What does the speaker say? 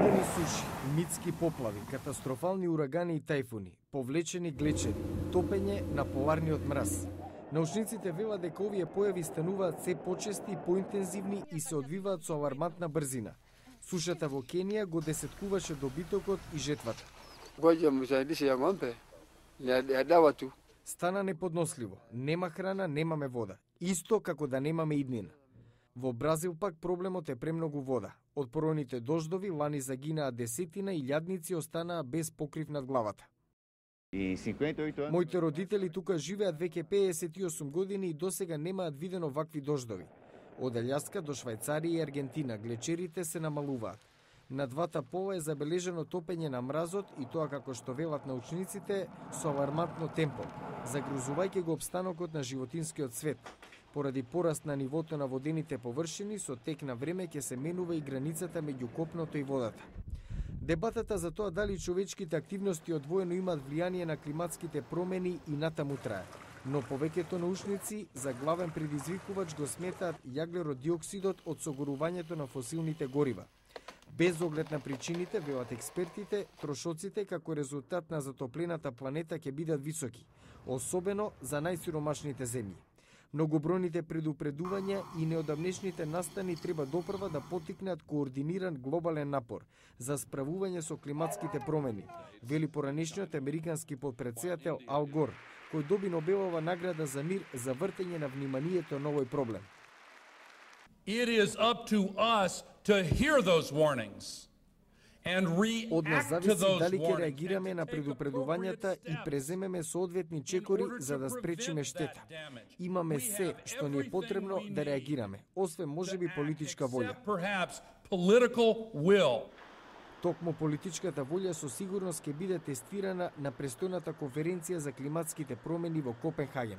Уморени суши, митски поплави, катастрофални урагани и тајфуни, повлечени глечери, топење на поларниот мраз. Научниците велат дека овие појави стануваат се почести и поинтензивни и се одвиваат со алармантна брзина. Сушата во Кенија го десеткуваше добитокот и жетвата. Стана неподносливо. Нема храна, немаме вода. Исто како да немаме иднина. Во Бразил пак проблемот е премногу вода. Од поројните дождови лани загинаа десетина и илјадници останаа без покрив над главата. Моите родители тука живеат веќе 58 години и досега немаат видено вакви дождови. Од Алјаска до Швајцарија и Аргентина глечерите се намалуваат. На двата пола е забележено топење на мразот и тоа, како што велат научниците, со алармантно темпо, загрозувајќи го опстанокот на животинскиот свет. Поради пораст на нивото на водените површини, со тек на време ќе се менува и границата меѓу копното и водата. Дебатата за тоа дали човечките активности одвоено имаат влијание на климатските промени и натаму трае. Но повеќето научници за главен предизвикувач го сметаат јаглеродиоксидот од согорувањето на фосилните горива. Без оглед на причините, велат експертите, трошоците како резултат на затоплената планета ќе бидат високи, особено за најсиромашните земји. Многобројните предупредувања и неодамнешните настани треба допрва да поттикнат координиран глобален напор за справување со климатските промени, вели поранешниот американски потпредседател Ал Гор, кој доби Нобелова награда за мир за вртење на вниманието на овој проблем. It is up to us to hear those warnings and Од нас react to зависи those дали ќе warnings. реагираме на предупредувањата и преземеме соодветни чекори за да спречиме штета. Имаме се што ни е потребно да реагираме, освен можеби политичка волја. Perhaps political will. Токму политичката волја со сигурност ќе биде тестирана на престојната конференција за климатските промени во Копенхаген.